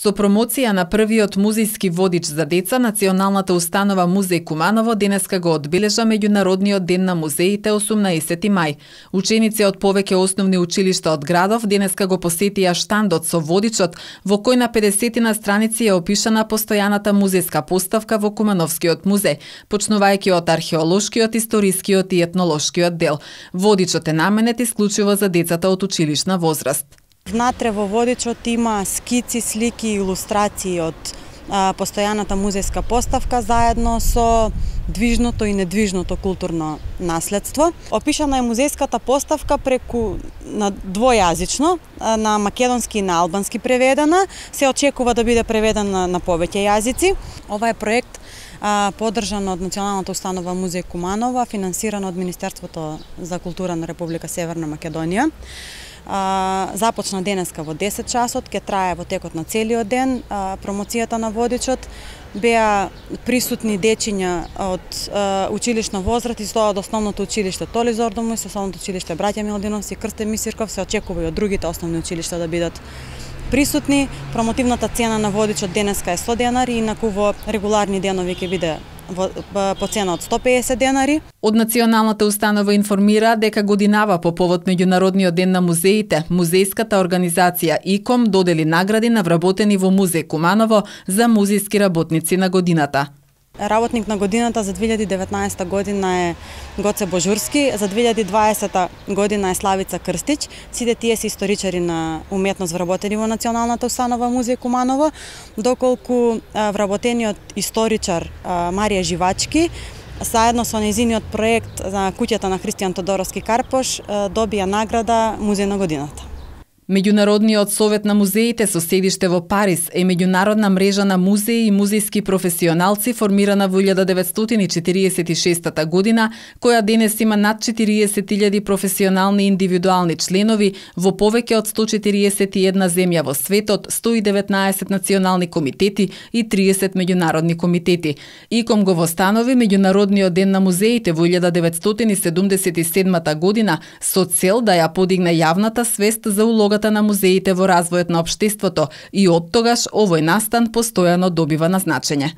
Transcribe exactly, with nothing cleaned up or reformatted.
Со промоција на првиот музејски водич за деца, Националната установа Музеј Куманово денеска го одбележа Меѓународниот ден на музеите осумнаесети мај. Ученици од повеќе основни училишта од градов денеска го посетија штандот со водичот, во кој на педесетина страници е опишана постојаната музејска поставка во Кумановскиот музеј, почнувајќи од археолошкиот, историскиот и етнолошкиот дел. Водичот е наменет исклучиво за децата од училишна возраст. Внатре во водичот има скици, слики и илустрации од а, постојаната музејска поставка заедно со движното и недвижното културно наследство. Опишана е музејската поставка преку на двојазично, на македонски и на албански преведена. Се очекува да биде преведена на повеќе јазици. Ова е проект а, поддржан од Националната установа Музеј Куманово, финансиран од Министерството за култура на Република Северна Македонија. Uh, започна денеска во десет часот, ќе трае во текот на целиот ден. Uh, промоцијата на водичот беа присутни дечиња од uh, училишна возраст и тоа од основното училиште Толи Зордомуј, со основното училиште Браќа Милодиновци и Крстен Мисирков. Се очекува и од другите основни училишта да бидат присутни. Промотивната цена на водичот денеска е сто денари, инаку во регуларни денови ќе биде по цена од сто пеесет денари. Од Националната установа информира дека годинава по повод Меѓународниот ден на музеите, музејската организација ИКОМ додели награди на вработени во Музеј Куманово за музејски работници на годината. Работник на годината за две илјади и деветнаесета година е Гоце Божурски, за две илјади и дваесета година е Славица Крстич. Сите тие се историчари на уметност вработени во Националната установа Музеј Куманово, доколку вработениот историчар Марија Живачки заедно со нејзиниот проект за куќата на Христијан Тодоровски Карпош добија награда Музеј на годината. Меѓународниот совет на музеите со седиште во Париз е меѓународна мрежа на музеи и музејски професионалци формирана во илјада деветстотини четириесет и шеста година, која денес има над четириесет илјади професионални индивидуални членови во повеќе од сто четириесет и една земја во светот, сто и деветнаесет национални комитети и триесет меѓународни комитети. ИКОМ го востанови Меѓународниот ден на музеите во илјада деветстотини седумдесет и седма година со цел да ја подигне јавната свест за улогата на музеите во развојот на општеството и оттогаш овој настан постојано добива на значење.